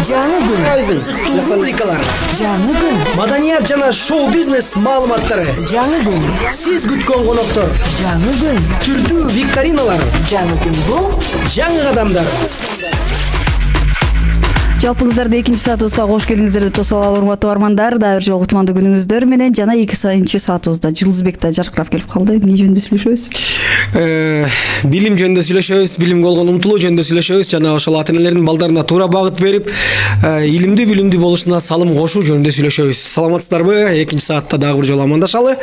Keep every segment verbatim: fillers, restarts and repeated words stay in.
Жаңы күн. Кызыктуу рубрикалар. Жаңы күн. Маданият жана шоу-бизнес маалыматтары. Жаңы күн. Сиз күткөн коноктор. Жаңы күн. Түрдүү викториналар. Жаңы күн бул. Жаңы кадамдар. Жалпыңыздарды экинчи саатыбызга кош келиңиздер деп тосуп алалы урматтуу армандар. Дагы бир жолу кутмандуу күнүңүздөр менен жана экинчи саатыбызда Жылдызбек да жаркырап келип калды. Эмне жөнүндө сүйлөшөбүз? Билим жөнүндө сүйлөшөбүз, билимге болгон умтулуу жөнүндө сүйлөшөбүз жана ошол ата-энелердин балдарына туура багыт берип, илимдүү билимдүү болушуна салым кошуу жөнүндө сүйлөшөбүз. Саламатсыздарбы? Экинчи саатта дагы бир жолу амандашалы.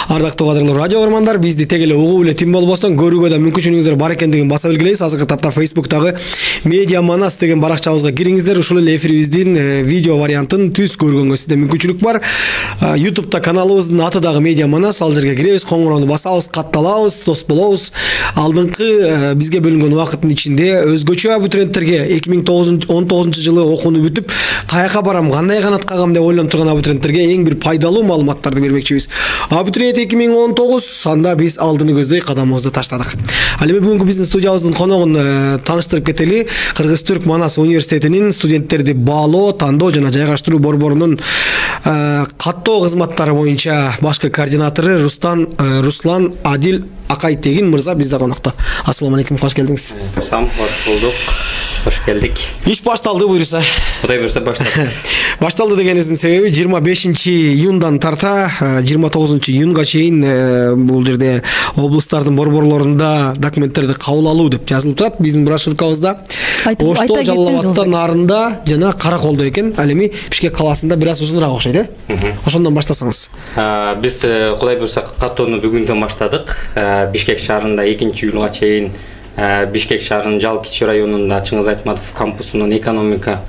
Ардактуу кадырлуу радио көрөрмандар, бизди тег эле угуу эле тим болбостон көрүүгө да мүмкүнчүлүгүңүздөр бар экендигин баса белгилейбиз. Азыркы тапта Facebook'тагы Media Manas деген баракчабызга кириңиздер. Ушул эле эфирибиздин видео вариантын түз көргөнгө сизде мүмкүнчүлүк бар. YouTube'да каналыбыздын аты дагы Media Manas. Ал жерге киребиз, коңгуроону басабыз, катталабыз, дос болобуз. Алдыңкы бизге бөлүнгөн убакыттын ичинде өзгөчө абитуриенттерге эки миң он тогузунчу жылы окууну бүтүп, каяка барам, кандай канат кагам деп ойлонуп турган абитуриенттерге эң бир пайдалуу маалыматтарды бермекчибиз. Абитуриент эки миң он тогуз, анда биз алдыны көздөй кадамыбызды таштадык. Ал эми бүгүнкү биздин студиябыздын коногун тааныштырып кетели. Кыргыз-Түрк Манас университетинин студенттерди баалоо, тандоо жана жайгаштыруу борборунун каттоо кызматтары боюнча башкы координатору Рустан Руслан Адил Акайтегин мырза бизде конокто. Ассаламу алейкум, кош келдиңиз. Сам кош болдук. Кош келдик. Иш башталды буюрса. Кудай буйрса башталды. Башталды дегенибиздин себеби жыйырма бешинчи июндан тарта жыйырма тогузунчу июнга чейин бул жерде облустардын борборлорунда документтерди кабыл алуу деп жазылып турат биздин брошюркабызда. Ошто, Жалал Абадта, Нарында жана Караколдо экен. Ал эми Бишкек калаасында бир аз узунураак окшойт, э? Ошондон баштасаңыз. Биз Кудай буйрса каттоону бүгүндөн баштадык. Бишкек шаарында экинчи июлга чейин Бишкек шаарынын Жал Кичи районунда Чыңгыз Айтматов кампусунун экономика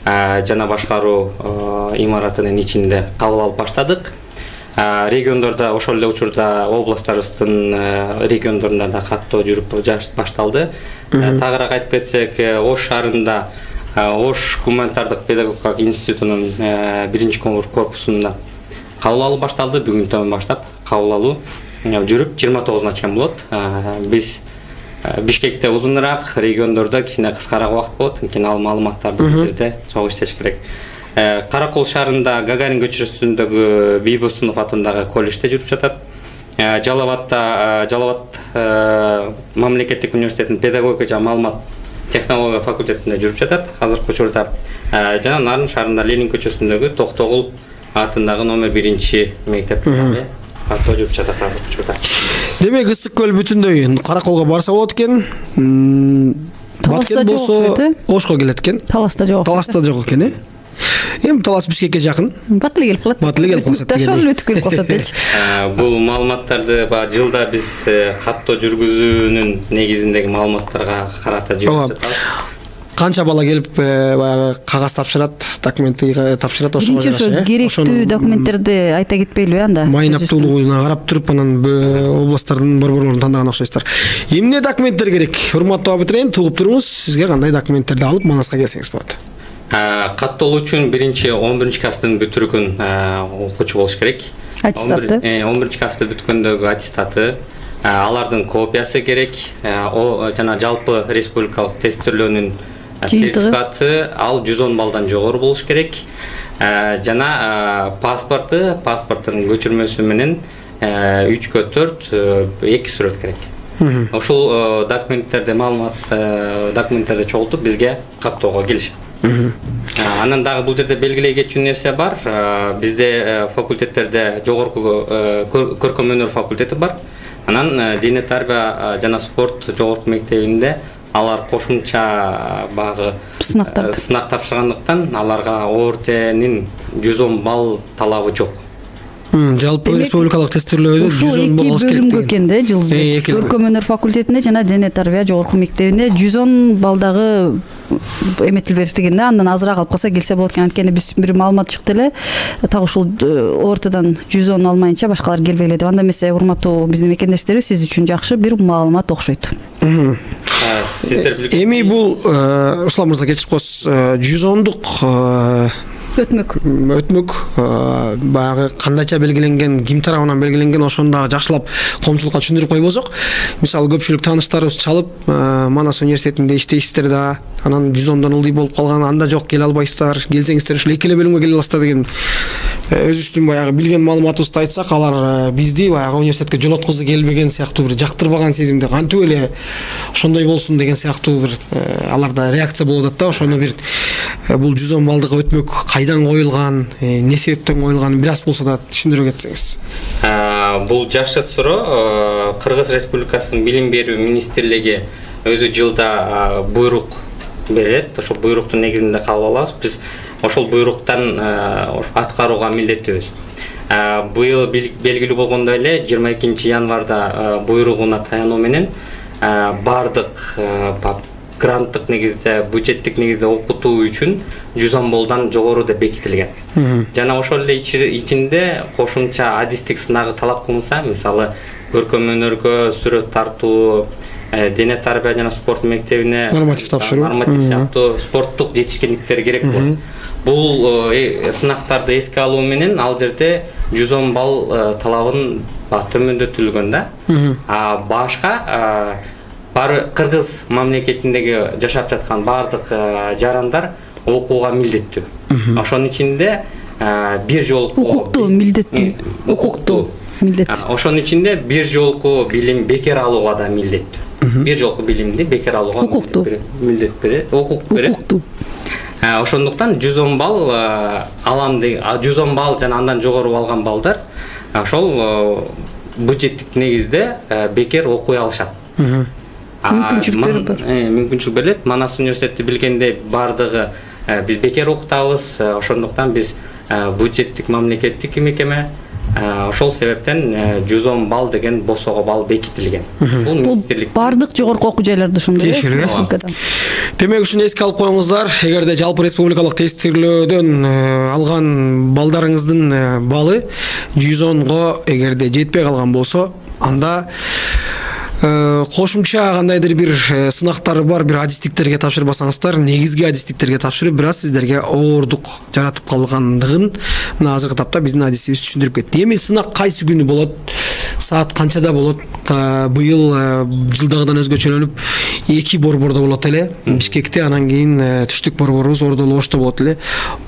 жана башкаруу имаратынын ичинде кабыл алып баштадык. Региондордо ошол эле учурда областтарыбыздын региондорунда да каттоо жүрүп башталды. Тагыраак айтып кетсек, Ош шаарында Ош гуманитардык педагогикалык институтунун биринчи корпусунда кабыл алуу башталды. Бүгүндөн баштап кабыл алуу жүрүп жыйырма тогузуна чейин болот. Биз Бишкекте узунураак, региондордо кичине кыскараак убакыт болот. Анткени ал маалыматтарды бул жерде чогуу иштеш керек. Каракол шаарында Гагарин көчөсүндөгү Бийбосунов атындагы колледжде жүрүп жатат. Жалал Абадта Жалал Абад мамлекеттик университетинин педагогика жана маалымат технология факультетинде жүрүп жатат. Азыркы учурда жана Нарын шаарында Ленин көчөсүндөгү Токтогул атындагы номер биринчи мектепте каттоо жүрүп жатат азыркы учурда. Демек, ысык көл бүтүндөй Караколго барса болот экен. Баткен болсо Ошко келет экен. Таласта жок. Таласта жок экен, э? Эми Талас Бишкекке жакын. Бат эле келип калат. Бат эле келип калса. Ошол эле өтүп келип калса дечи. Бул маалыматтарды баягы жылда биз каттоо жүргүзүүнүн негизиндеги маалыматтарга карата жүрүп жатабыз. Канча бала келип баягы кагаз тапшырат, документти тапшырат, ошого жараша. Биринчи ошо керектүү документтерди айта кетпейлиби анда? Майнаптуулугуна карап туруп, анан областтардын борборлорун тандаган окшойсуздар. Эмне документтер керек? Урматтуу абитуриент, угуп туруңуз, сизге кандай документтерди алып Манаска келсеңиз болот? Каттоолуу үчүн биринчи он биринчи класстын бүтүргөн окуучу болуш керек. Аттестаты? он биринчи классты бүткөндөгү аттестаты, алардын копиясы керек. Жана жалпы республикалык тестирлөөнүн сертификаты ал жүз он балдан жогору болуш керек. Жана паспорты, паспорттун көчүрмөсү менен үчкө төрт эки сүрөт керек. Ошол документтерди, маалымат документтерди чогултуп бизге каттоого келишет. Анан дагы бул жерде белгилей кетчү нерсе бар. Бизде факультеттерде жогорку көркөм өнөр факультети бар. Анан дене тарбия жана спорт жогорку мектебинде алар кошумча багы сынак тапшыргандыктан аларга ОРТнин жүз он балл талабы жок. Жалпы республикалык тестирлөөдө жүз он балл алыш керек. Бөлүнгө экен да Жылдызбек. Көркөм өнөр факультетинде жана дене тарбия жогорку мектебинде жүз он балдагы эметилбери деген да, андан азыраак алып калса келсе болот экен. Анткени биз бир маалымат чыкты эле, так ушул ортодон жүз он алмайынча башкалар келбейли деп. Анда эмесе, урматтуу биздин мекендештерибиз, сиз үчүн жакшы бир маалымат окшойт. Эми бул Руслан мырза кечирип коесуз, жүз ондук өтмөк өтмөк баягы кандайча белгиленген, ким тарабынан белгиленген ошону дагы жакшылап коомчулукка түшүндүрүп койбосок, мисалы көпчүлүк тааныштарыбыз чалып, Манас университетинде иштейсиздер да, анан жүз ондон ылдый болуп калган, анда жок келе албайсыздар, келсеңиздер ушул эки эле бөлүмгө келе аласыздар деген өзүбүздүн баягы билген маалыматыбызды айтсак, алар бизди баягы университетке жолоткузуу келбеген сыяктуу, бир жактырбаган сезимде, кантип эле ошондой болсун деген сыяктуу бир аларда реакция болуп атат да. Ошону бир бул жүз он балдык өтмөк кайдан коюлган, эмне себептен коюлганын бир аз болсо да түшүндүрө кетсеңиз. Бул жакшы суроо. Кыргыз Республикасынын билим берүү министрлиги өзү жылда буйрук берет. Ошол буйруктун негизинде кабыл алабыз. Биз ошол буйруктан аткарууга милдеттүүбүз. Быйыл белгилүү болгондой эле жыйырма экинчи январда буйругуна таянуу менен бардык гранттык негизде, бюджеттик негизде окутуу үчүн жүз он баллдан жогору деп бекитилген. Жана ошол эле ичинде кошумча адистик сынагы талап кылынса, мисалы көркөм өнөргө сүрөт тартуу, дене тарбия жана спорт мектебине норматив тапшыруу, норматив сыяктуу спорттук жетишкендиктер керек болот. Бул сынактарды эске алуу менен ал жерде жүз он балл талабын төмөндөтүлгөн да. А башка бары кыргыз мамлекетиндеги жашап жаткан бардык жарандар окууга милдеттүү. Ошонун ичинде бир жолку укуктуу милдеттүү. Укуктуу милдеттүү. Ошонун ичинде бир жолку билим бекер алууга да милдеттүү. Бир жолку билимди бекер алууга милдет берет, укук берет. Укуктуу. Ошондуктан жүз он балл алам деген, жүз он балл жана андан жогору алган балдар ошол бюджеттик негизде бекер окуй алышат. Мүмкүнчүлүктөр бар. Мүмкүнчүлүк берилет. Манас университети билгендей бардыгы биз бекер окутабыз. Ошондуктан биз бюджеттик мамлекеттик мекеме, ошол себептен жүз он балл деген босого балл бекитилген. Бул министрлик бардык жогорку окуу жайларда ошондой республикада. Демек ушуну эске алып коюңуздар. Эгерде жалпы республикалык тестирлөөдөн алган балдарыңыздын баллы жүз онго эгерде жетпей калган болсо, анда кошумча кандайдыр бир сынактары бар, бир адистиктерге тапшырбасаңыздар, негизги адистиктерге тапшырып, бир аз сиздерге оордук жаратып калгандыгын мына азыркы тапта биздин адисибиз түшүндүрүп кетти. Эми сынак кайсы күнү болот? Саат канчада болот? Быйыл жылдагыдан өзгөчөлөнүп эки борбордо болот эле. Бишкекте, анан кийин түштүк борборубуз Ордолу Ошто болот эле.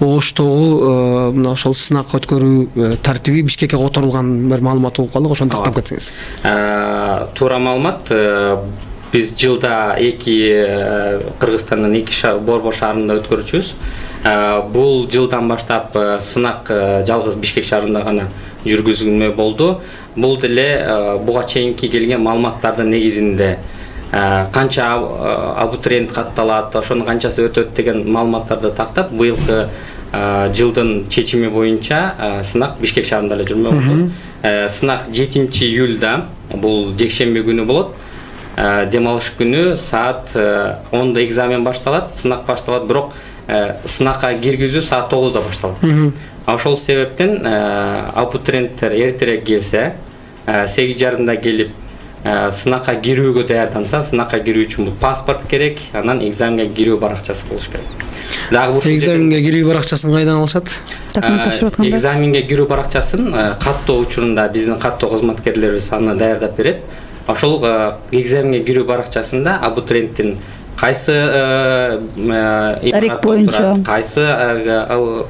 Оштогу мына ошол сынак өткөрүү тартиби Бишкекке которулган бир маалымат угуп калдык, ошону тактап кетсеңиз. Туура маалымат. Биз жылда эки Кыргызстандын эки борбор шаарында өткөрүчүбүз. Бул жылдан баштап сынак жалгыз Бишкек шаарында гана жүргүзүлмө болду. Бул деле буга чейинки келген маалыматтардын негизинде канча абитуриент катталат, ошонун канчасы өтөт деген маалыматтарды тактап, быйылкы жылдын чечими боюнча сынак Бишкек шаарында эле жүрмө болду. Сынак жетинчи июлда, бул жекшемби күнү болот. Дем алыш күнү саат онда экзамен башталат, сынак башталат, бирок сынакка киргизүү саат тогузда башталат. Ошол себептен абитуриенттер эртерээк келсе, сегиз жарымда келип сынакка кирүүгө даярданса, сынакка кирүү үчүн бул паспорт керек, анан экзаменге кирүү баракчасы болуш керек. Дагы бул экзаменге кирүү баракчасын кайдан алышат? Документ тапшырып атканда. Экзаменге кирүү баракчасын каттоо учурунда биздин каттоо кызматкерлерибиз аны даярдап берет. Ошол экзаменге кирүү баракчасында абитуриенттин кайсы тарих боюнча, кайсы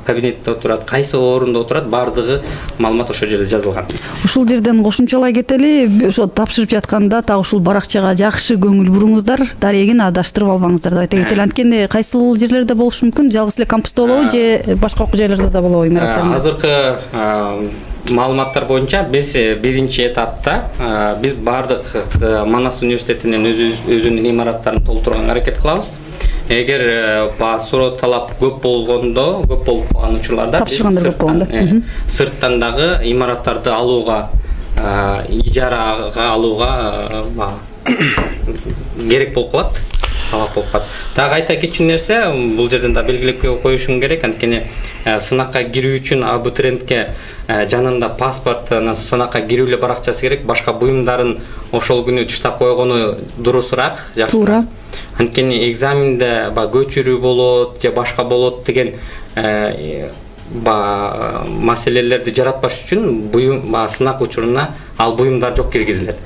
кабинетте отурат, кайсы орунда отурат, бардыгы маалымат ошол жерде жазылган. Ушул жерден кошумчалай кетели, ошо тапшырып жатканда так ушул баракчага жакшы көңүл буруңуздар, дарегин адаштырып албаңыздар деп айта кетели. Анткени кайсыл жерлерде болушу мүмкүн, жалгыз эле кампуста болобу же башка окуу жайларда да болобу имараттарда? Азыркы маалыматтар боюнча биз биринчи этапта биз бардык Манас университетинин өзүнүн имараттарын толтурганга аракет кылабыз. Эгер суроо талап көп болгондо, көп болуп калган учурларда тапшыргандар көп болгондо сырттан дагы имараттарды алууга, ижарага алууга керек болуп калат. талап болуп калат. Дагы айта кетчү нерсе, бул жерден да белгилеп коюшум керек, анткени сынакка кирүү үчүн абитуриентке жанында паспорт, сынакка кирүү эле баракчасы керек, башка буюмдарын ошол күнү таштап койгону дурусураак, жакшы. Туура. Анткени экзаменде баягы көчүрүү болот же башка болот деген ба маселелерди жаратпаш үчүн буюм сынак учуруна ал буюмдар жок киргизилет.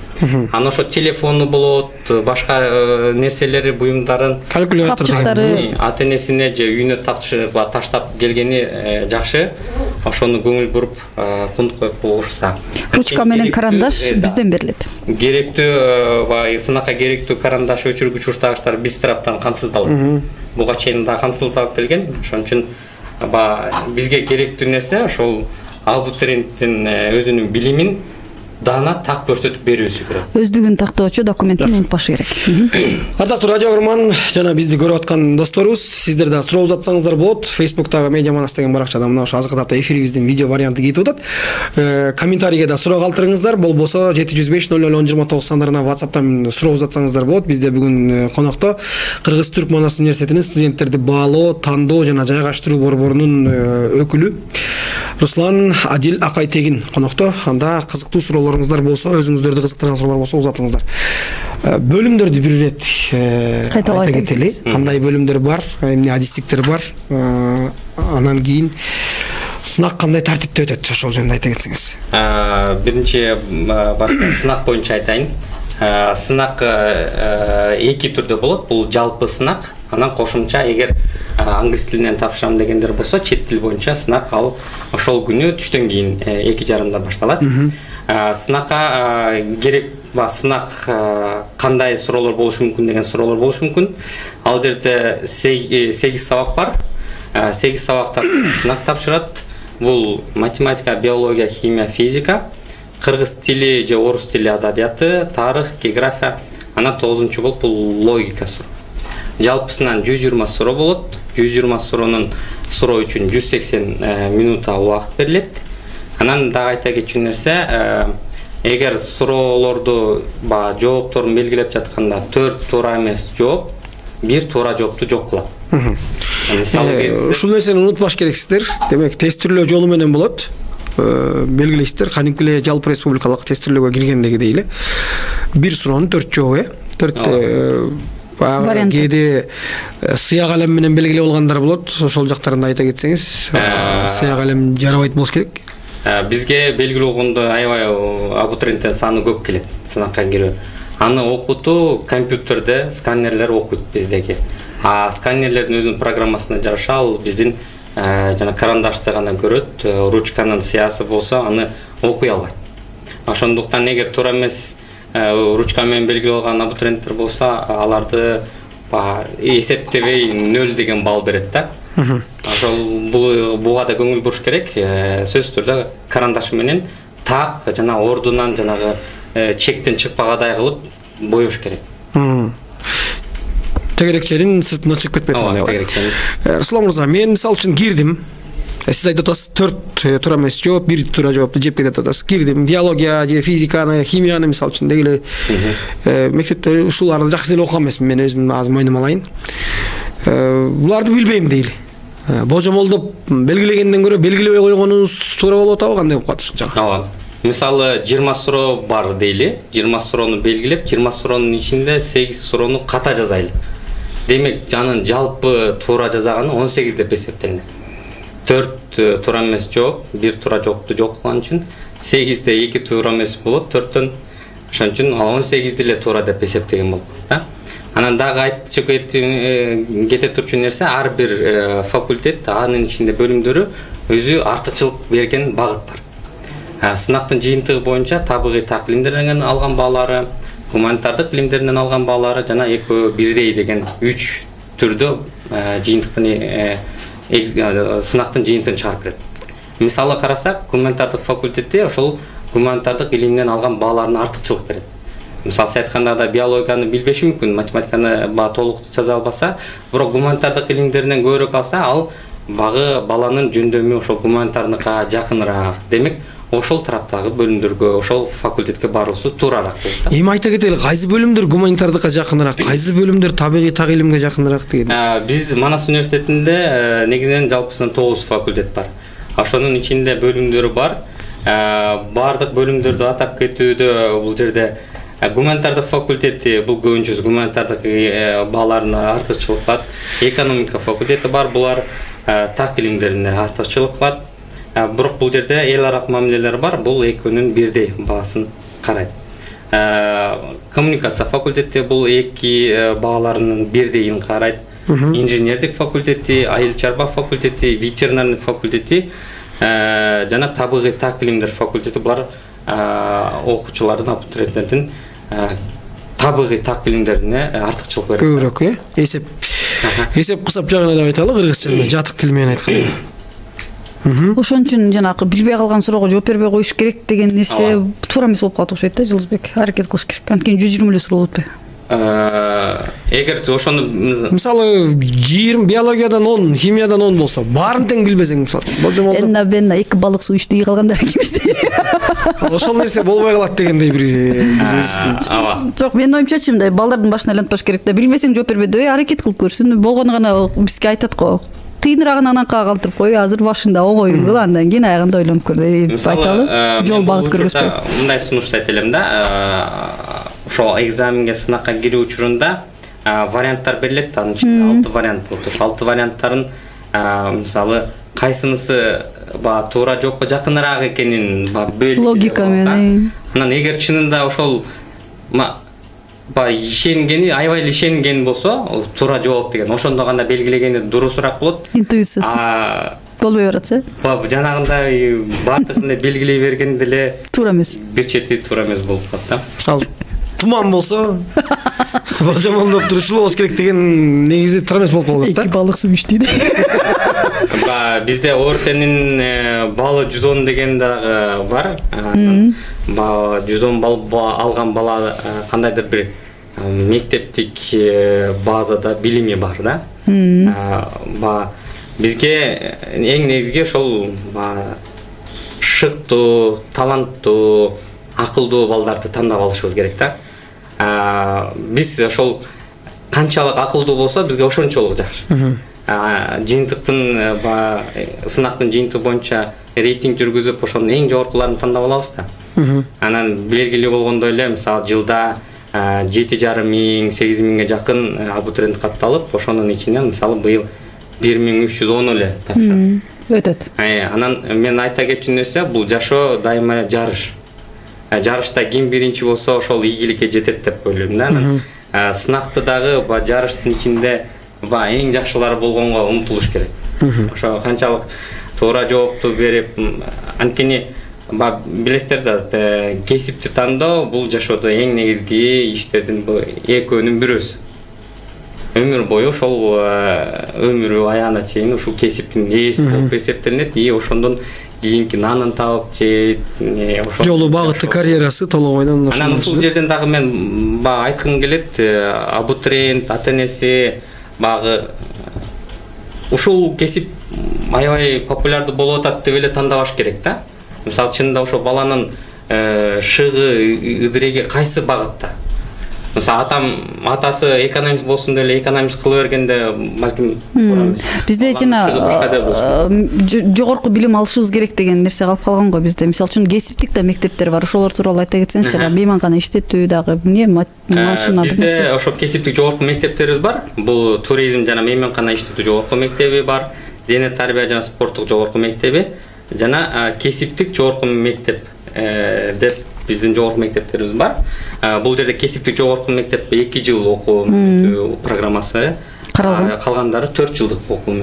Анан ошо телефону болот, башка нерселери, буюмдарын, калькулятор, ата-энесине же үйүнө таштап келгени жакшы. Ошону көңүл буруп, кунт коюп коюшса. Ручка менен карандаш бизден берилет. Керектүү баягы сынакка керектүү карандаш, өчүргүч, уштагычтар биз тараптан камсыздалат. Буга чейин да камсыздалып келген. Ошон үчүн бизге керектүү нерсе ошол абитуриенттин өзүнүн билимин дана так көрсөтүп берүүсү керек. Өздүгүн тактоочу документин унутпашы керек. Ардактуу радио көрөрман жана бизди көрүп аткан досторубуз, сиздер да суроо узатсаңыздар болот. Фейсбуктагы Медиа Манас деген баракчада мына ошо азыркы тапта эфирибиздин видео варианты кетип атат. Комментарийге да суроо калтырыңыздар. Болбосо жети жүз беш ноль ноль он жыйырма тогуз сандарына WhatsApp'тан суроо узатсаңыздар болот. Бизде бүгүн конокто Кыргыз Түрк Манас университетинин студенттерди баалоо, тандоо жана жайгаштыруу борборунун өкүлү Руслан Адил Акайтегин конокто. Анда кызыктуу суроолоруңуздар болсо, өзүңүздөрдү кызыктырган суроолор болсо узатыңыздар. Бөлүмдөрдү бир ирет айта кетели. Кандай бөлүмдөр бар, эмне адистиктер бар, анан кийин сынак кандай тартипте өтөт, ошол жөнүндө айта кетсеңиз. Биринчи сынак боюнча айтайын. Сынак эки түрдө болот. Бул жалпы сынак, анан кошумча эгер англис тилинен тапшырам дегендер болсо, чет тил боюнча сынак ал ошол күнү түштөн кийин эки жарымда башталат. Сынакка керек ба сынак кандай суроолор болушу мүмкүн деген суроолор болушу мүмкүн. Ал жерде сегиз сабак бар. сегиз сабакта сынак тапшырат. Бул математика, биология, химия, физика, кыргыз тили же орус тили адабияты, тарых, география, анан тогузунчу болуп бул логика суроо. Жалпысынан жүз жыйырма суроо болот. жүз жыйырма суроонун суроо үчүн жүз сексен минута убакыт берилет. Анан дагы айта кетчү нерсе, эгер суроолорду ба жоопторун белгилеп жатканда төрт туура эмес жооп, бир туура жоопту жок кылат. Ушул нерсени унутпаш керексиздер. Демек, тестирлөө жолу менен болот. Белгилейсиздер, кадимки эле жалпы республикалык тестирлөөгө киргендегидей эле бир суроонун төрт жообу, төрт баягы кээде сыя калем менен белгилеп алгандар болот. Ошол жактарында айта кетсеңиз, сыя калем жарабайт болуш керек. Бизге белгилүү болгондо аябай абитуриенттин саны көп келет сынакка кирүү. Аны окутуу компьютерде сканерлер окуйт биздеги. А сканерлердин өзүнүн программасына жараша ал биздин жана карандашты гана көрөт, ручканын сыясы болсо аны окуй албайт. Ошондуктан эгер туура эмес ручка менен белгилеп алган абитуриенттер болсо, аларды эсептебей нөл деген балл берет да. Ошол буга да көңүл буруш керек. Сөзсүз түрдө карандаш менен так жана ордунан жанагы чектен чыкпагадай кылып боёш керек. Тегерекченин сыртына чыгып кетпей тургандай. Руслан мырза, мен мисалы үчүн кирдим. Сиз айтып атасыз төрт туура эмес жооп, бир туура жоопту жеп кетет атасыз. Кирдим, биология же физиканы, химияны мисалы үчүн деги эле мектепте ушуларды жакшы эле окуган эмесмин, мен өзүм азыр мойнума алайын. Буларды билбейм дейли. Божомолдоп белгилегенден көрө белгилебей койгонубуз туура болуп атабы, кандай болуп калат ушунча? Ооба. Мисалы жыйырма суроо бар дейли. жыйырма суроону белгилеп, жыйырма суроонун ичинде сегиз суроону ката жазайлы. Демек, жанын жалпы туура жазаганы он сегиз деп эсептелинет. төрт туура эмес жооп, бир туура жоопту жок кылган үчүн сегизде эки туура эмес болот, төрттөн ошон үчүн ал он сегизди эле туура деп эсептеген болот, да? Анан дагы айтчу кете турчу нерсе, ар бир факультет, анын ичинде бөлүмдөрү өзү артыкчылык берген багыт бар. Сынактын жыйынтыгы боюнча табигый так илимдеринен алган баалары, гуманитардык илимдеринен алган баалары жана экөө бирдей деген үч түрдө жыйынтыктын сынактын жыйынтыгын чыгарып берет. Мисалы карасак, гуманитардык факультети ошол гуманитардык илимден алган бааларына артыкчылык берет. Мисалы сиз айтканда биологияны билбеши мүмкүн, математиканы ба толук жаза албаса, бирок гуманитардык илимдеринен көбүрөөк алса, ал багы баланын жөндөмү ошол гуманитардыкка жакыныраак. Демек, ошол тараптагы бөлүмдөргө, ошол факультетке баруусу туурараак болот да. Эми айта кетели, кайсы бөлүмдөр гуманитардыкка жакыныраак, кайсы бөлүмдөр табигый так илимге жакыныраак деген? Биз Манас университетинде негизинен жалпысынан тогуз факультет бар. Ошонун ичинде бөлүмдөрү бар. Бардык бөлүмдөрдү атап кетүүдө бул жерде гуманитардык факультети, бул көбүнчөсү гуманитардык бааларына артыкчылык кылат. Экономика факультети бар, булар так илимдерине артыкчылык кылат. Бирок бул жерде эл аралык мамилелер бар, бул экөөнүн бирдей баасын карайт. Коммуникация факультети бул эки бааларынын бирдейин карайт. Инженердик факультети, айыл чарба факультети, ветеринарный факультети жана табигый так илимдер факультети булар окуучулардын, абитуриенттердин табигый так илимдерине артыкчылык берет. Көбүрөөк, э? Эсеп эсеп кысап жагына деп айталы, кыргызча жатык тил менен айтканда. Ошон үчүн жанагы билбей калган суроого жооп бербей коюш керек деген нерсе туура эмес болуп калат окшойт да, Жылызбек. Аракет кылыш керек. Анткени жүз жыйырма эле суроо болот. Эгер ошону мисалы жыйырма биологиядан он, химиядан он болсо, баарын тең билбесең, мисалы, болжом болду. Энна бенна эки балык суу ичти, калгандары ким ичти? Ошол нерсе болбой калат дегендей бир. Ооба. Жок, менин оюмчачы мындай, балдардын башына айлантпаш керек да. Билбесең жооп бербей, аракет кылып көрсүн. Болгону гана бизге айтат го. Кыйыныраагын анакка калтырып кой, азыр башында огоюн кыл, андан кийин аягында ойлонуп көр деп айталы. Жол багыт көргөзбөй. Мындай сунушту айта элем да. Ошо экзаменге, сынакка кирүү учурунда варианттар берилет, анын ичинде алты вариант болот. Ошо алты варианттарын мисалы кайсынысы ба туура жоопко жакыныраак экенин ба бөлүп логика менен. Анан эгер чынында ошол ба ишенгени, аябай эле ишенген болсо, туура жооп деген, ошондо гана белгилегени дурусураак болот. Интуициясы болбой баратса. Ба жанагындай бардыгын белгилей бергенде эле туура эмес. Бир чети туура эмес болуп калат да. Мисалы туман болсо, болжомолдоп турушу болуш керек деген негизи туура эмес болуп калат да. Эки балык суу ичти. Ба бизде ОРТнин балы жүз он деген дагы бар. Ба жүз он балл алган бала кандайдыр бир мектептик базада билими бар да. Ба бизге эң негизги ошол шыктуу, таланттуу, акылдуу балдарды тандап алышыбыз керек да. Биз ошол канчалык акылдуу болсо, бизге ошончолук жакшы. Жыйынтыктын ба сынактын жыйынтыгы боюнча рейтинг жүргүзүп, ошонун эң жогоркуларын тандап алабыз да. Анан белгилүү болгондой эле, мисалы жылда жети жарым миң, сегиз миңге жакын абитуриент катталып, ошонун ичинен мисалы быйыл бир миң үч жүз он эле тапшырды. Өтөт. Анан мен айта кетчү нерсе, бул жашоо дайыма жарыш. Жарышта ким биринчи болсо, ошол ийгиликке жетет деп ойлойм да. Сынакты дагы ба жарыштын ичинде ба эң жакшылары болгонго умтулуш керек. Ошо канчалык туура жоопту берип, анткени ба билесиздер да, кесипти тандоо бул жашоодо эң негизги иштердин экөөнүн бирөөсү. Өмүр бою ошол өмүрү аягына чейин ушул кесиптин ээси болуп эсептелинет, и ошондон кийинки нанын таап жейт, ошол жолу багыты, карьерасы толугойдон ошол. Анан ушул жерден дагы мен ба айткым келет, абитуриент, ата-энеси багы ушул кесип аябай популярдуу болуп атат деп эле тандабаш керек да. Мисалы чынында ошо баланын шыгы, ыдыреги кайсы багытта? Мисалы атам, атасы экономист болсун деп эле экономист кыла бергенде балким туура эмес. Бизде жана жогорку билим алышыбыз керек деген нерсе калып калган го бизде. Мисалы үчүн кесиптик да мектептер бар. Ошолор тууралуу айта кетсеңиз, жана мейманкана иштетүү дагы, эмне, машина бир нерсе. Бизде ошо кесиптик жогорку мектептерибиз бар. Бул туризм жана мейманкана иштетүү жогорку мектеби бар. Дене тарбия жана спорттук жогорку мектеби жана кесиптик жогорку мектеп деп биздин жогорку мектептерибиз бар. Бул жерде кесиптик жогорку мектеп эки жыл окуу программасы каралган. Калгандары төрт жылдык окуу.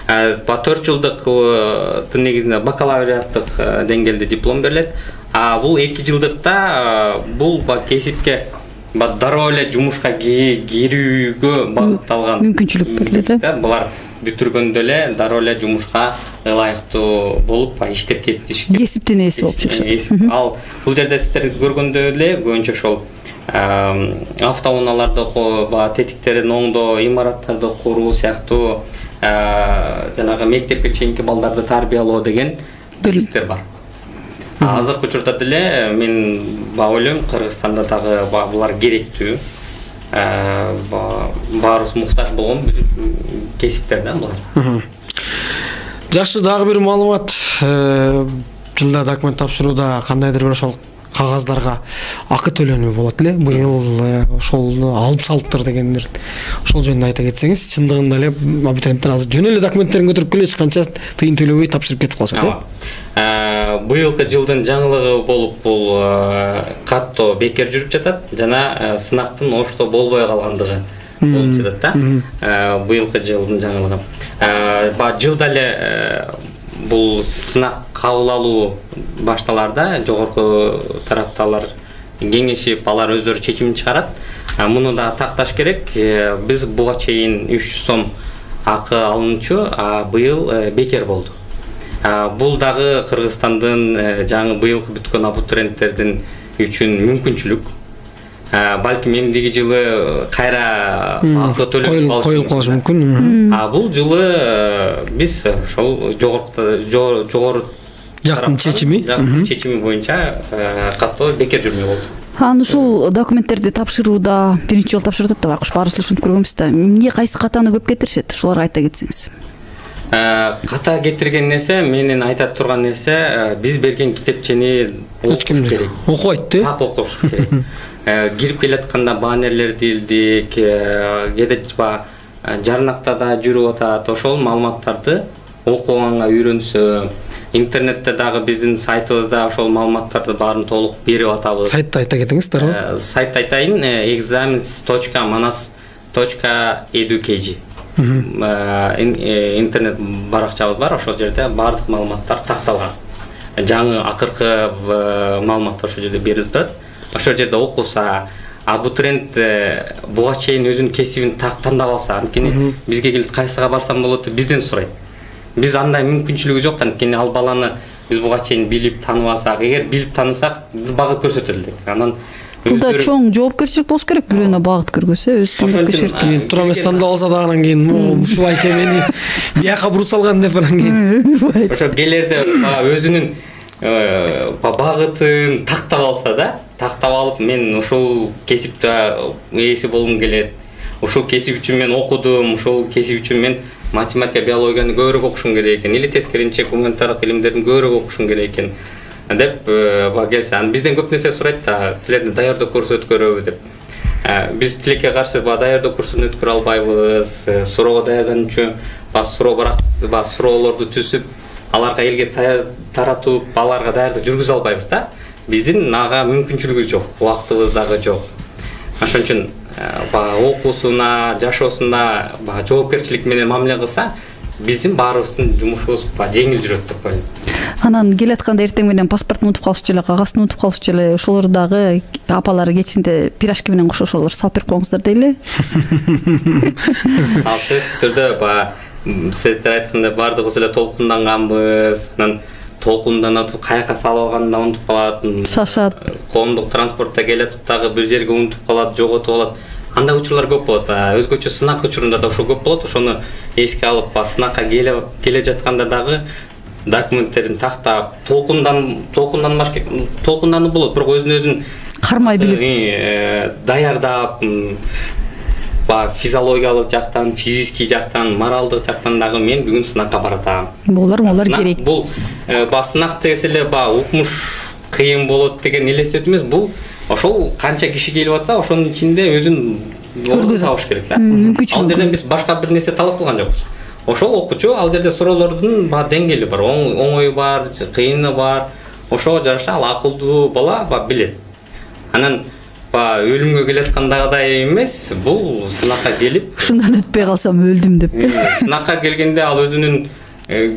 Ба төрт жылдыктын негизинде бакалавриаттык деңгээлде диплом берилет. А бул эки жылдыкта бул ба кесипке ба дароо эле жумушка кирүүгө багытталган мүмкүнчүлүк берилет да. Булар бүтүргөндө эле дароо эле жумушка ылайыктуу болуп иштеп кетиш керек. Кесиптин ээси болуп чыгышат. Ал бул жерде сиздер көргөндөй эле көбүнчө ошол автоунааларды ба тетиктерин оңдоо, имараттарды куруу сыяктуу жанагы мектепке чейинки балдарды тарбиялоо деген кесиптер бар. Азыркы учурда деле мен баягы ойлойм, Кыргызстанда дагы булар керектүү. Баарыбыз муктаж болгон бир кесиптер да булар. Жакшы, дагы бир маалымат. Жылда документ тапшырууда кандайдыр бир ошол кагаздарга акы төлөнүү болот эле. Быйыл ошол алып салыптыр дегендер. Ошол жөнүндө айта кетсеңиз, чындыгында эле абитуриенттер азыр жөн эле документтерин көтөрүп келе чыкканча тыйын төлөбөй тапшырып кетип калышат, э? Быйылкы жылдын жаңылыгы болуп бул каттоо бекер жүрүп жатат жана сынактын ошто болбой калгандыгы болуп жатат да. Быйылкы жылдын жаңылыгы. Ба жылда эле бул сынак кабыл алуу башталарда жогорку тарапталар кеңешип, алар өздөрү чечимин чыгарат. Муну да такташ керек. Биз буга чейин үч жүз сом акы алынчу, а быйыл бекер болду. Бул дагы Кыргызстандын жаңы быйыл бүткөн абитуриенттердин үчүн мүмкүнчүлүк. Балким эмдиги жылы кайра акы төлөп коюлуп калышы мүмкүн. А бул жылы биз ошол жогорку жогору жактын чечими чечими боюнча каттоо бекер жүрмөй болду. Анан ушул документтерди тапшырууда биринчи жолу тапшырып атат да, байкуш баарыбыз ушинтип көргөнбүз да. Эмне кайсы катаны көп кетиришет? Ушуларга айта кетсеңиз. Ката кетирген нерсе, менин айта турган нерсе, биз берген китепчени окуш керек. Окубайт да? Так окуш керек. Кирип келатканда баннерлерди илдик, кээде жарнакта да жүрүп атат. Ошол маалыматтарды окуганга үйрөнсө, интернетте дагы биздин сайтыбызда ошол маалыматтарды баарын толук берип атабыз. Сайтты айта кетиңиз, дароо. Сайтты айтайын, examens точка manas точка edu точка kg. Интернет баракчабыз бар, ошол жерде баардык маалыматтар такталган. Жаңы акыркы маалыматтар ошол жерде берилип турат. Ошол жерде окуса, абитуриент буга чейин өзүнүн кесибин тандап алса, анткени бизге келип кайсыга барсам болот деп бизден сурайт. Биз андай мүмкүнчүлүгү жок, анткени ал баланы биз буга чейин билип танып алсак, эгер билип танысак, багыт көрсөтөлү элек. Анан бул да чоң жоопкерчилик болуш керек, бирөөнө багыт көргөсө, өз тандап кешерт. Тура эмес тандап алса да анан кийин ушул айке мени бияка буруп салган деп анан кийин. Ошо келерде өзүнүн багытын тактап алса да, тактап алып, мен ушул кесипте ээси болгум келет. Ушул кесип үчүн мен окудум, ушул кесип үчүн мен математика, биологияны көбүрөөк окушум керек экен, или тескеринче гуманитардык илимдердин көбүрөөк окушум керек экен деп келсе, анан бизден көп нерсе сурайт да, силерди даярдоо курсу өткөрөбү деп. Биз тилекке каршы даярдоо курсун өткөрө албайбыз. Суроого даярдануучу суроо барак суроолорду түзүп, аларга элге таратып, аларга даярдык жүргүзө албайбыз да. Биздин ага мүмкүнчүлүгүбүз жок, убактыбыз дагы жок. Ошон үчүн окуусуна, жашоосуна жоопкерчилик менен мамиле кылса, биздин баарыбыздын жумушубуз жеңил жүрөт деп ойлойм. Анан келатканда эртең менен паспортун унутуп калышчу эле, кагазын унутуп калышчу эле, ошолор дагы апалары кечинде пирожки менен кошо ошолор салып берип коюңуздар дейли. Ал сөзсүз түрдө сиздер айткандай баардыгыбыз эле толкунданганбыз. Анан толкунданып каяка салып алганын унутуп калат. Шашат. Коомдук транспортто келатып дагы бир жерге унутуп калат, жоготуп алат. Андай учурлар көп болот. Өзгөчө сынак учурунда да ошол көп болот. Ошону эске алып, сынакка келе жатканда дагы документтерин тактап, толкундан толкунданбаш толкунданып болот, бирок өзүн-өзүн кармай билип, даярдап, ба физиологиялык жактан, физический жактан, моралдык жактан дагы мен бүгүн сынакка баратам. Булар булар керек. Бул ба сынак десе эле ба укмуш кыйын болот деген элестетүү эмес. Бул ошол канча киши келип атса, ошонун ичинде өзүн көргөзүп алыш керек да. Ал жерден биз башка бир нерсе талап кылган жокпуз. Ошол окуучу ал жерде суроолордун ба деңгээли бар, оңою бар, кыйыны бар. Ошого жараша ал акылдуу бала ба билет. Анан ба өлүмгө келаткандагыдай эмес, бул сынакка келип, ушундан өтпөй калсам өлдүм деп. Сынакка келгенде ал өзүнүн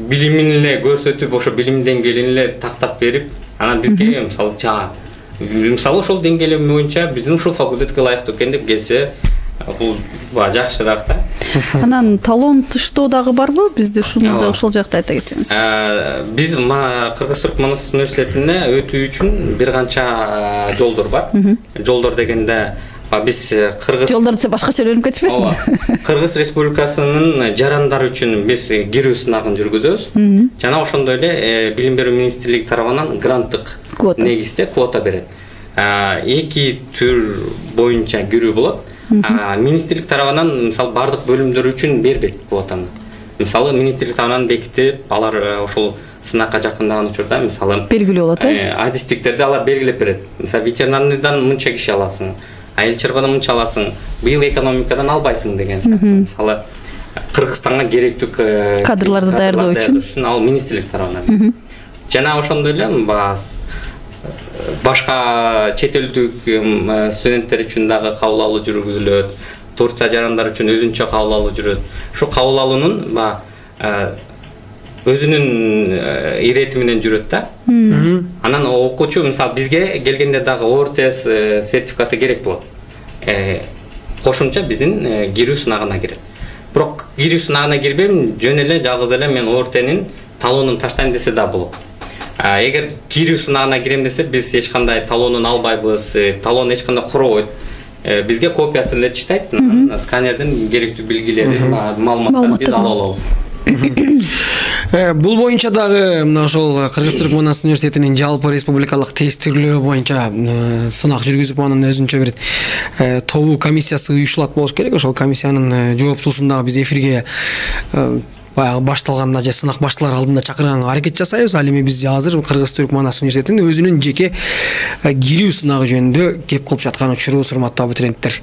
билимин эле көрсөтүп, ошо билим деңгээлин эле тактап берип, анан бизге мисалы чаа, мисалы ошол деңгээл боюнча биздин ушул факультетке ылайыктуу экен деп келсе, бул жакшыраак да. Анан талон тыштоо дагы барбы? Бизде ушуну да ошол жакта айта кетсеңиз. Биз Кыргыз Түрк Манас университетине өтүү үчүн бир канча жолдор бар. Жолдор дегенде Биз Кыргыз жолдор десе башкача өрүнүп кетишпесин. Кыргыз Республикасынын жарандары үчүн биз кирүү сынагын жүргүзөбүз. Жана ошондой эле Билим берүү министрлиги тарабынан гранттык негизде квота берет. Эки түр боюнча кирүү болот. Министрлик тарабынан мисалы бардык бөлүмдөр үчүн бербейт квотаны. Мисалы министрлик тарабынан бекитип, алар ошол сынакка жакындаган учурда мисалы белгилүү болот, э? Адистиктерди алар белгилеп берет. Мисалы ветеринарныйдан мынча киши аласың, айыл чарбадан мынча аласың, быйыл экономикадан албайсың деген сыяктуу. Мисалы Кыргызстанга керектүү кадрларды даярдоо үчүн ал министрлик тарабынан. Жана ошондой эле башка чет элдик студенттер үчүн дагы кабыл алуу жүргүзүлөт. Турция жарандар үчүн өзүнчө кабыл алуу жүрөт. Ошо кабыл алуунун өзүнүн ирети менен жүрөт да. Анан окуучу мисалы бизге келгенде дагы о эр тэ эс сертификаты керек болот. Кошумча биздин кирүү сынагына кирет. Бирок кирүү сынагына кирбейм, жөн эле жалгыз эле мен о эр тэ-нин талоонун таштайм десе да болот. Эгер кирүү сынагына кирем десе, биз эч кандай талоонун албайбыз, талоон эч кандай куробойт. Бизге копиясын илетиштейт, сканердин керектүү билгилерин, маалыматтарды биз ала алабыз. Бул боюнча дагы мына ошол Кыргыз Түрк Манас университетинин жалпы республикалык тестирлөө боюнча сынак жүргүзүп, анын өзүнчө бир тобу комиссиясы уюшулат болуш керек. Ошол комиссиянын жооптуусун дагы биз эфирге баягы башталганда же сынак башталар алдында чакырганга аракет жасайбыз. Ал эми биз азыр Кыргыз Түрк Манас университетинин өзүнүн жеке кирүү сынагы жөнүндө кеп кылып жаткан учурубуз, урматтуу абитуриенттер.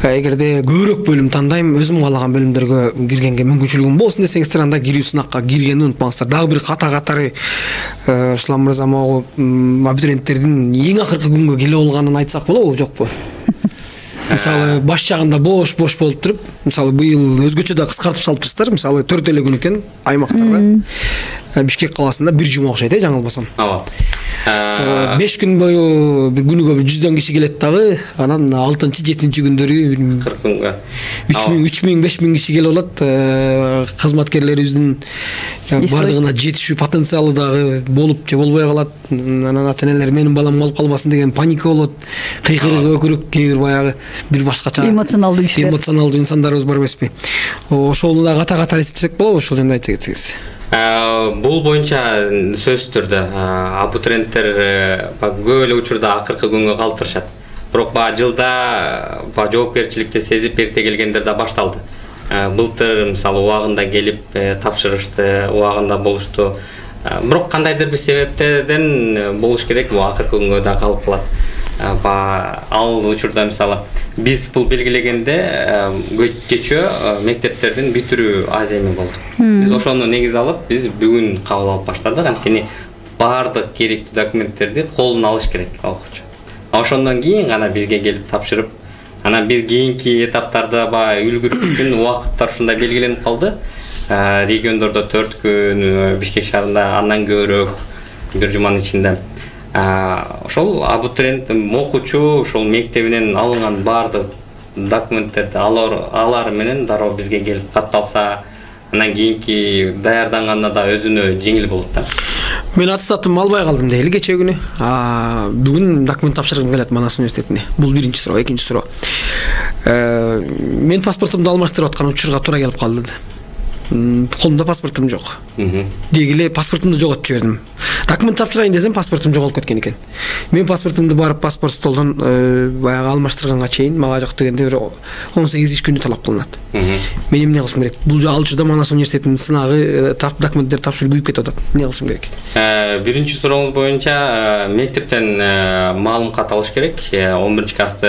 Эгерде көбүрөөк бөлүм тандайм, өзүм каалаган бөлүмдөргө киргенге мүмкүнчүлүгүм болсун десеңиздер, анда кирүү сынакка киргенди унутпаңыздар. Дагы бир ката катары Руслан мырза могу абитуриенттердин эң акыркы күнгө келе болгонун айтсак болобу, жокпу? Мисалы баш жагында бош-бош болуп туруп, мисалы быйыл өзгөчө да кыскартып салыптырсыздар. Мисалы төрт эле күн экен аймактарда. Бишкек каласында бир жума окшойт, э, жаңылбасам. Ооба. беш күн бою бир күнүгө бир жүздөн киши келет дагы. Анан алтынчы, жетинчи күндөрү кырк күнгө үч миң, беш миң киши келип алат. Кызматкерлерибиздин бардыгына жетишүү потенциалы дагы болуп же болбой калат. Анан ата-энелер менин балам болуп калбасын деген паника болот. Кыйкырык, өкүрүк, кээ бир баягы бир башкача эмоционалдуу кишилер, эмоционалдуу инсандарыбыз бар эмеспи? Ошону да ката-ката эсептесек болобу, ошол жөнүндө айта кетсеңиз. Бул боюнча сөзсүз түрдө абитуриенттер көп эле учурда акыркы күнгө калтырышат. Бирок баягы жылда жоопкерчиликти сезип эрте келгендер да башталды. Былтыр мисалы убагында келип тапшырышты, убагында болушту. Бирок кандайдыр бир себептерден болуш керек, бул акыркы күнгө да калып калат. Ал учурда мисалы биз бул белгилегенде кечөө мектептердин бүтүрүү аз эми болду. Биз ошону негиз алып, биз бүгүн кабыл алып баштадык. Анткени баардык керектүү документтерди колуна алыш керек окуучу. Ошондон кийин гана бизге келип тапшырып, анан биз кийинки этаптарда баягы үлгүрүш үчүн убакыттар ушундай белгиленип калды. Региондордо төрт күн, Бишкек шаарында андан көбүрөөк бир жуманын ичинде. Ошол абитуриент окуучу ошол мектебинен алынган баардык документтерди алар менен дароо бизге келип катталса, анан кийинки даярданганда да өзүнө жеңил болот да. Мен аттестатымды албай калдым дейли кечээ күнү. Бүгүн документ тапшыргым келет Манас университетине. Бул биринчи суроо, экинчи суроо. Мен паспортумду алмаштырып аткан учурга туура келип калды. Колумда паспортум жок. Дегиле паспортумду жоготуп жибердим. Документ тапшырайын десем, паспортум жоголуп кеткен экен. Мен паспортумду барып паспорт столдон баягы алмаштырганга чейин мага жок дегенде бир он сегиз иш күнү талап кылынат. Мен эмне кылышым керек? Бул ал учурда Манас университетинин сынагы, документтер тапшырып күйүп кетип атат. Эмне кылышым керек? Биринчи сурооңуз боюнча мектептен маалым кат алыш керек. он биринчи классты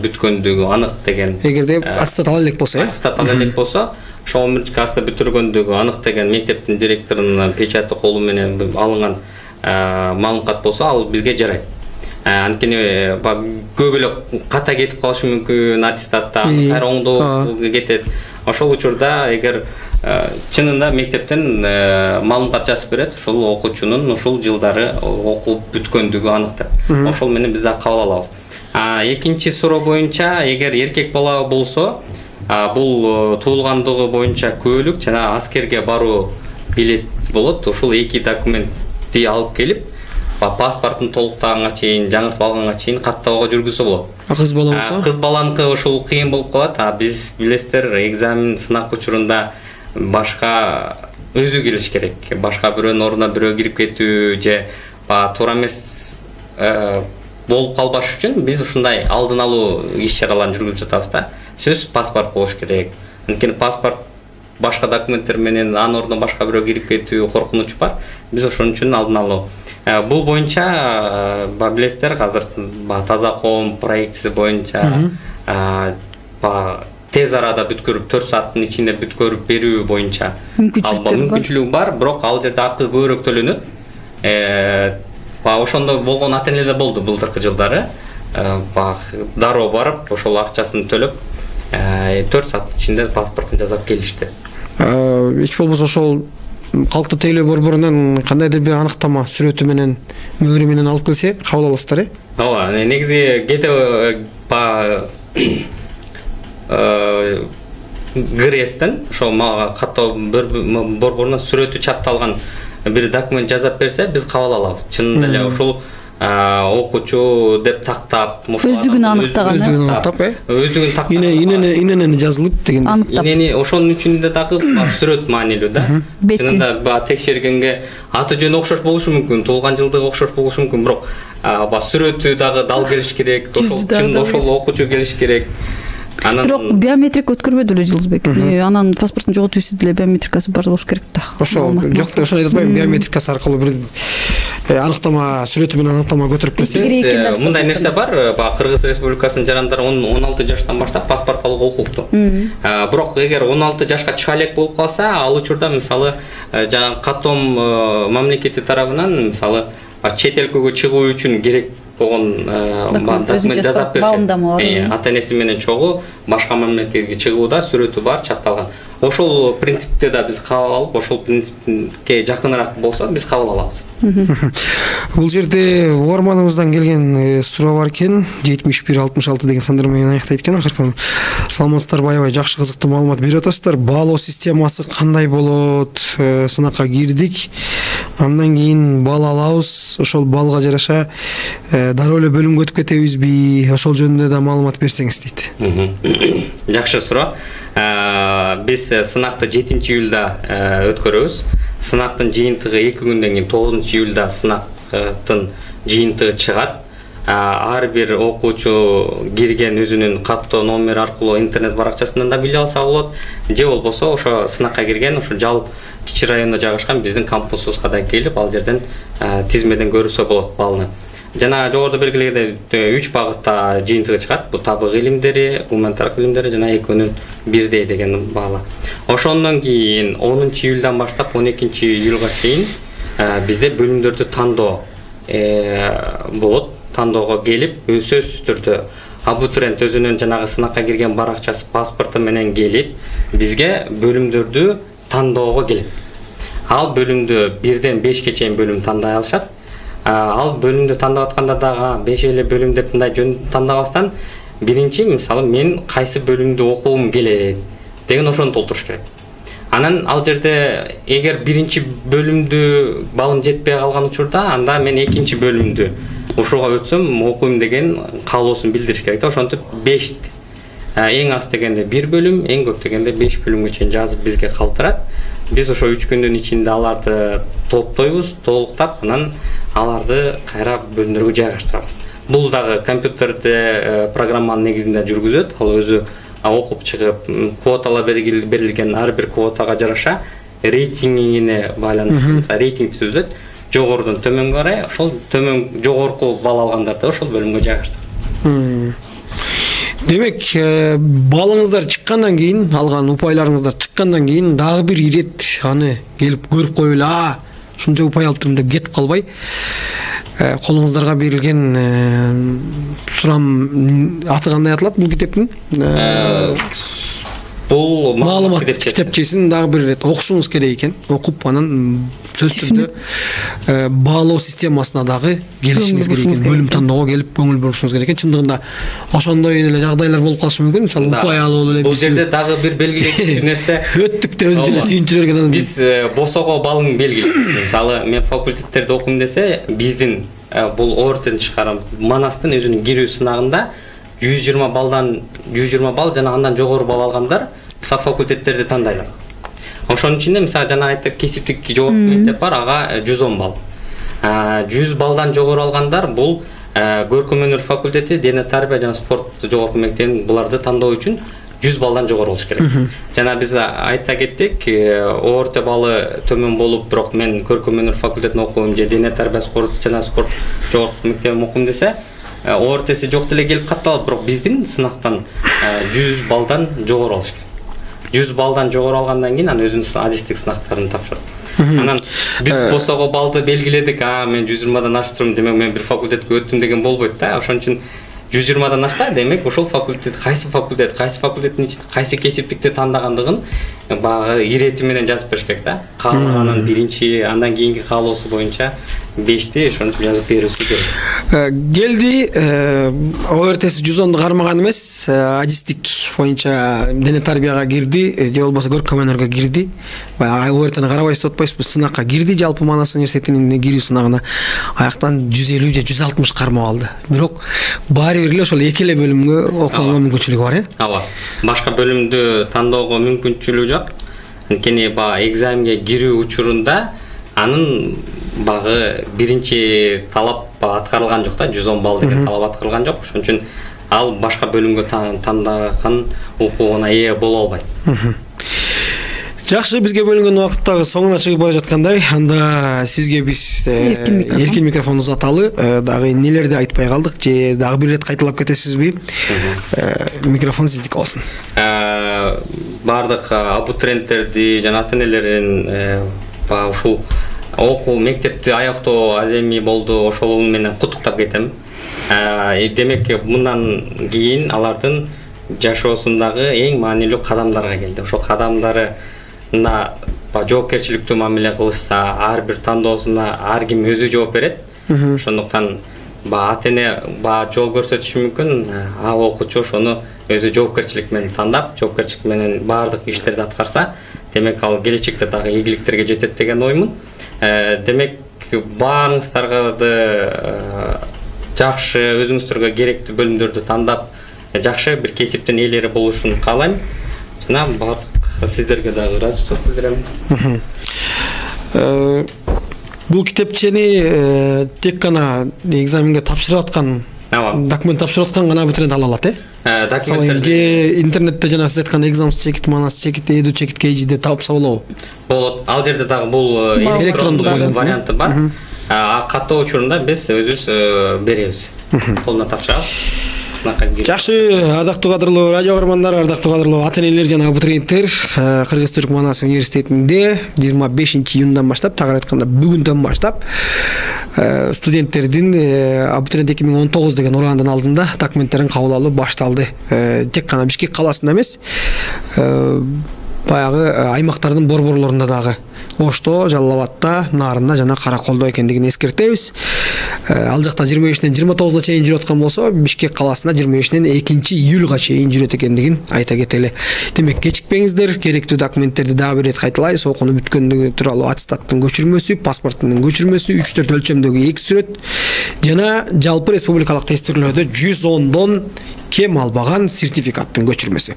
бүткөндүгү анык деген. Эгерде аттестат ала элек болсо, э? Аттестат ала элек болсо, ошо он биринчи класста бүтүргөндүгү анык деген мектептин директорунун печати колу менен алынган маалым кат болсо, ал бизге жарайт. Анткени көп эле ката кетип калышы мүмкүн, аттестатта кайра оңдоо кетет. Ошол учурда эгер чынында мектептен маалым кат жазып берет, ошол окуучунун ушул жылдары окуп бүткөндүгү анык деп. Ошол менен биз да кабыл алабыз. Экинчи суроо боюнча, эгер эркек бала болсо, бул туулгандыгы боюнча көлүк жана аскерге баруу билет болот. Ушул эки документти алып келип, паспортун толуктаганга чейин, жаңыртып алганга чейин каттоого жүргүзсө болот. Кыз бала болсо? Кыз баланыкы ушул кыйын болуп калат. А биз билесиздер, экзамен, сынак учурунда башка өзү келиш керек. Башка бирөөнүн ордуна бирөө кирип кетүү же туура эмес болуп калбаш үчүн биз ушундай алдын алуу иш-чараларын жүргүзүп жатабыз да. Сөзсүз паспорт болуш керек. Анткени паспорт башка документтер менен анын ордуна башка бирөө кирип кетүү коркунучу бар. Биз ошон үчүн алдын алуу. Бул боюнча билесиздер, азыр Таза коом проектиси боюнча тез арада бүткөрүп төрт сааттын ичинде бүткөрүп берүү боюнча мүмкүнчүлүгү бар, бирок ал жерде акы көбүрөөк төлөнөт. Ошондо болгон ата-энелер болду былтыркы жылдары. Дароо барып, ошол акчасын төлөп, төрт сааттын ичинде паспортун жасап келишти. Эч болбосо ошол калктуу тейлөө борборунан кандайдыр бир аныктама сүрөтү менен, мөөрү менен алып келсе кабыл аласыздар, э? Ооба, негизи кете ГРЭСтен ошо мага каттоо борборунан сүрөтү чапталган бир документ жазап берсе, биз кабыл алабыз. Чынында эле ошол окуучу деп тактап, өздүгүн аныктаган, өздүгүн аныктап, э? Өздүгүн тактап. Инени жазылып деген. Инени ошонун үчүн дагы сүрөт маанилүү да. Чынында баа текшергенге аты жөнү окшош болушу мүмкүн, туулган жылдыгы окшош болушу мүмкүн, бирок ба сүрөтү дагы дал келиш керек, ошол чын ошол окуучу келиш керек. Бирок биометрик өткөрбөдү эле Жылдызбек. Анан паспорттун жоготүүсү деле биометрикасы бар болуш керек да. Ошол жок, ошону айтып атпайм, биометрикасы аркылуу бир аныктама, сүрөтү менен аныктама көтөрүп келсе. Мындай нерсе бар, баа Кыргыз Республикасынын жарандары он алты жаштан баштап паспорт алууга укуктуу. Бирок эгер он алты жашка чыга элек болуп калса, ал учурда мисалы жанагы каттом мамлекети тарабынан мисалы чет элкөгө чыгуу үчүн керек болгон документ жазап берсе, ата-энеси менен чогуу башка мамлекетке чыгууда сүрөтү бар, чапталган. Ошол принципте да биз кабыл алып, ошол принципке жакыныраак болсо биз кабыл алабыз. Бул жерде угарманыбыздан келген суроо бар экен. жетимиш бир алтымыш алты деген сандар менен аяктайт экен. Акыркы саламатсыздарбы, аябай жакшы кызыктуу маалымат берип атасыздар. Баалоо системасы кандай болот? Сынакка кирдик. Андан кийин бал алабыз. Ошол балга жараша дароо эле бөлүмгө өтүп кетебизби? Ошол жөнүндө да маалымат берсеңиз дейт. Жакшы суроо. Биз сынакты жетинчи июлда өткөрөбүз. Сынактын жыйынтыгы эки күндөн кийин тогузунчу июлда сынактын жыйынтыгы чыгат. Ар бир окуучу кирген өзүнүн каттоо номери аркылуу интернет баракчасынан да биле алса болот. Же болбосо ошо сынакка кирген ошо Жал кичи районунда жайгашкан биздин кампусубузга да келип, ал жерден тизмеден көрсө болот балны. Жана жогоруда белгилегендей үч багытта жыйынтыгы чыгат. Бул табык илимдери, гуманитардык илимдери жана экөөнүн бирдей деген баала. Ошондон кийин онунчу июлдан баштап он экинчи июлга чейин бизде бөлүмдөрдү тандоо болот. Тандоого келип, сөзсүз түрдө абитуриент өзүнүн жанагы сынакка кирген баракчасы, паспорту менен келип, бизге бөлүмдөрдү тандоого келет. Ал бөлүмдү бирден бешке чейин бөлүм тандай алышат. Ал бөлүмдү тандап атканда дагы беш эле бөлүм деп мындай жөн тандабастан, биринчи мисалы мен кайсы бөлүмдү окугум келет деген ошону толтуруш керек. Анан ал жерде эгер биринчи бөлүмдү балым жетпей калган учурда, анда мен экинчи бөлүмдү ушуга өтсөм окуйм деген каалоосун билдириш керек да. Ошентип беш эң аз дегенде бир бөлүм, эң көп дегенде беш бөлүмгө чейин жазып бизге калтырат. Биз ошо үч күндүн ичинде аларды топтойбуз, толуктап, анан аларды кайра бөлүмдөргө жайгаштырабыз. Бул дагы компьютерде программанын негизинде жүргүзөт. Ал өзү окуп чыгып, квоталар берилген ар бир квотага жараша рейтингине байланыштуу рейтинг түзүлөт. Жогорудон төмөнгө карай, ошол төмөн жогорку балл алгандарды ошол бөлүмгө жайгаштырат. Демек, балыңыздар чыккандан кийин, алган упайларыңыздар чыккандан кийин дагы бир ирет аны келип көрүп коюп эле, а, ушунча упай алыптырмын деп кетип калбай, колуңуздарга берилген сурам аты кандай аталат бул китептин? бул маалымат китепчесин дагы бир ирет окушуңуз керек экен. Окуп анан сөзсүз түрдө баалоо системасына дагы келишиңиз керек экен. Бөлүм тандоого келип көңүл бурушуңуз керек экен. Чындыгында ошондой эле жагдайлар болуп калышы мүмкүн. Мисалы упай алып эле бул жерде дагы бир белгилүү нерсе өттүк деп өзү эле сүйүнчү берген. Биз босого балың белгилейбиз. Мисалы мен факультеттерде окуйм десе, биздин бул Ортен тышкары Манастын өзүнүн кирүү сынагында жүз жыйырма балдан жүз жыйырма балл жана андан жогору балл алгандар мисалы факультеттерди тандайлар. Ошонун ичинде мисалы жана айттык кесиптик жогорку мектеп бар, ага жүз он балл. жүз баллдан жогору алгандар бул көркөм өнөр факультети, дене тарбия жана спорт жогорку мектебин буларды тандоо үчүн жүз баллдан жогору болуш керек. Жана биз айта кеттик, орто баллы төмөн болуп, бирок мен көркөм өнөр факультетин окуйм же дене тарбия спорт жана спорт жогорку мектебин окуйм десе, ортеси жок деле келип катталат, бирок биздин сынактан жүз баллдан жогору болуш керек. жүз баллдан жогору алгандан кийин анан өзүнүн адистик сынактарын тапшырат. Анан биз босого балды белгиледик, а мен жүз жыйырмадан ашып турмун, демек мен бир факультетке өттүм деген болбойт да. Ошон үчүн жүз жыйырмадан ашса, демек ошол факультет кайсы факультет, кайсы факультеттин ичинде кайсы кесиптикти тандагандыгын баягы ирети менен жазып бериш керек да. Каалаганын биринчи, андан кийинки каалоосу боюнча бешти ошентип жазып берүүсү керек. Келди, ортеси жүз онду кармаган эмес, адистик боюнча дене тарбияга кирди, же болбосо көркөм өнөргө кирди. Баягы ортени карабайсыз деп атпайсызбы, сынакка кирди, жалпы Манас университетинин кирүү сынагына. Аяктан жүз элүү же жүз алтымыш кармап алды. Бирок баары бир эле ошол эки эле бөлүмгө окуганга мүмкүнчүлүгү бар, э? Ооба. Башка бөлүмдү тандоого мүмкүнчүлүгү жок. Анткени баягы экзаменге кирүү учурунда анын багы биринчи талап аткарылган жок да, жүз он балл деген талап аткарылган жок. Ошон үчүн ал башка бөлүмгө тандаган укугуна ээ боло албайт. Жакшы, бизге бөлүнгөн убакыт дагы соңуна чыгып бара жаткандай. Анда сизге биз эркин микрофон узаталы, дагы нелерди айтпай калдык же дагы бир ирет кайталап кетесизби? Микрофон сиздики болсун. Бардык абитуриенттерди жана ата-энелерин ба ушул окуу мектепти аяктоо аземи болду, ошол менен куттуктап кетем. Демек мындан кийин алардын жашоосундагы эң маанилүү кадамдарга келди. Ошол кадамдарына жоопкерчиликтүү мамиле кылышса, ар бир тандоосуна ар ким өзү жооп берет. Ошондуктан ата-эне жол көрсөтүшү мүмкүн, а окуучу ошону өзү жоопкерчилик менен тандап, жоопкерчилик менен баардык иштерди аткарса, демек ал келечекте дагы ийгиликтерге жетет деген оймун. Демек баарыңыздарды жакшы, өзүңүздөргө керектүү бөлүмдөрдү тандап, жакшы бир кесиптин ээлери болушун каалайм. Жана бардык сиздерге дагы ыраазычылык билдирем. Бул китепчени тек гана экзаменге тапшырып аткан, документ тапшырып аткан гана абитуриент ала алат, э? Документтерди интернетте жана сиз айткан экзамс чекит, Манас чекит, эду чекит кейжиде тапса болобу? Болот. Ал жерде дагы бул электрондук варианты бар. Каттоо учурунда биз өзүбүз беребиз. Колуна тапшырабыз. Жакшы, ардактуу кадырлуу радио көрөрмандар, ардактуу кадырлуу ата-энелер жана абитуриенттер, Кыргыз-Түрк Манас университетинде жыйырма бешинчи июндан баштап, тагыраак айтканда бүгүндөн баштап студенттердин абитуриент эки миң он тогуз деген ураандын алдында документтерин кабыл алуу башталды. Тек гана Бишкек каласында эмес, баягы аймактардын борборлорунда дагы, Ошто, Жалал Абадта, Нарында жана Караколдо экендигин эскертебиз. Ал жакта жыйырма бешинен жыйырма тогузуна чейин жүрөт аткан болсо, Бишкек каласында жыйырма бешинен экинчи июлга чейин жүрөт экендигин айта кетели. Демек, кечикпеңиздер, керектүү документтерди дагы бир ирет кайталайбыз. Окууну бүткөндүгү тууралуу аттестаттын көчүрмөсү, паспорттун көчүрмөсү, үч төрт өлчөмдөгү эки сүрөт жана жалпы республикалык тестирлөөдө жүз ондон кем албаган сертификаттын көчүрмөсү.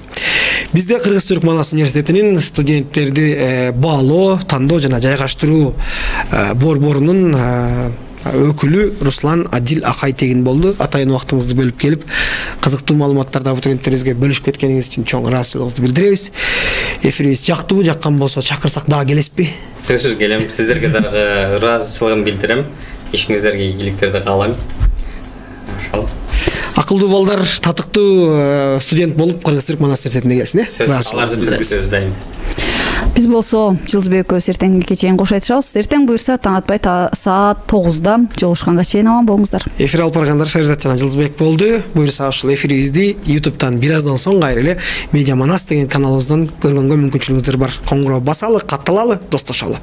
Бизде Кыргыз-Түрк Манас университетинин студенттерди баалоо, тандоо жана жайгаштыруу борборунун өкүлү Руслан Адил Акай тегин болду. Атайын убактыңызды бөлүп келип, кызыктуу маалыматтарды абитуриенттерибизге бөлүшүп кеткениңиз үчүн чоң ыраазычылыгыбызды билдиребиз. Эфирибиз жактыбы, жаккан болсо чакырсак дагы келесизби? Сөзсүз келем. Сиздерге дагы ыраазычылыгымды билдирем. Ишиңиздерге ийгиликтерди каалайм. Ошол. Акылдуу балдар, татыктуу студент болуп Кыргыз-Түрк Манас университетине келсин, э? Аларды биз күтөбүз дайым. Биз болсо Жылдызбек экөөбүз эртеңки чейин кош айтышабыз. Эртең буюрса таң атпай саат тогузда жолугушканга чейин аман болуңуздар. Эфир алып баргандар Шаризат жана Жылдызбек болду. Буюрса ушул эфирибизди ютубтан бир аздан соң кайра эле Медиа Манас деген каналыбыздан көргөнгө мүмкүнчүлүгүңүздөр бар. Коңгуроо басалы, катталалы, достошолу.